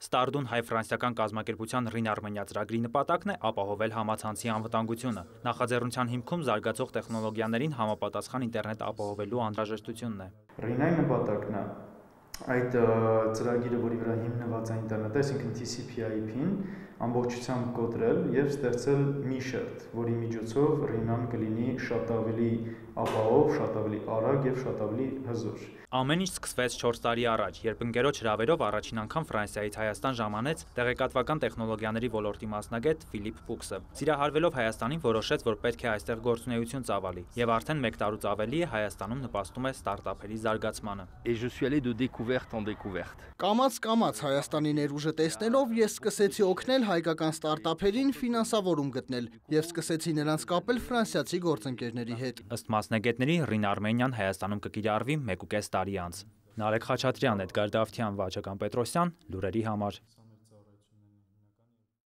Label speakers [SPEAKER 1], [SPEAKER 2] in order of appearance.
[SPEAKER 1] Ստարդուն հայ-ֆրանսիական կազմակերպության Ռին-Արմենիա ծրագրի նպատակն է ապահովել համացանցի անվտանգությունը։ Նախաձեռնության հիմքում զարգացող տեխնոլոգիաներին համապատասխան ինտերնետ ապահովելու անհրաժեշտությունն է։
[SPEAKER 2] Ռին-ի նպատակն է այդ ծրագիրը, որի վրա հիմնված է ինտերնետը, այսինքն TCP/IP-ին ամբողջությամբ կոտրել եւ ստեղծել մի շերտ, որի միջոցով Ռին-ան կլինի շատ ավելի ապահով, շատ ավելի արագ եւ շատ ավելի հզոր։
[SPEAKER 1] Ամեն ինչ սկսվեց 4 տարի առաջ, երբ ընկերոջ հրավերով առաջին անգամ Ֆրանսիայից Հայաստան ժամանեց տեղեկատվական տեխնոլոգիաների ոլորտի մասնագետ Ֆիլիպ Պուքսը։ Սիրահարվելով Հայաստանին, որոշեց, որ պետք է այստեղ գործունեություն ծավալի, եւ արդեն 1 տարուց ավելի է Հայաստանում նպաստում է ստարտափերի զարգացմանը։
[SPEAKER 3] Կամաց Հայաստանի ներուժը տեսնելով ես սկսեցի օգնել հայկական ստարտափերին ֆինանսավորում գտնել եւ սկսեցի նրանց կապել ֆրանսիացի գործընկերների հետ։
[SPEAKER 1] Ըստ մասնագետների Ռին-Արմենիան Հայաստանում կկիրառվի 1.5 տարի անց։ Նարեկ Խաչատրյան, Էդգար Դավթյան, Վաչական Պետրոսյան, լուրերի համար։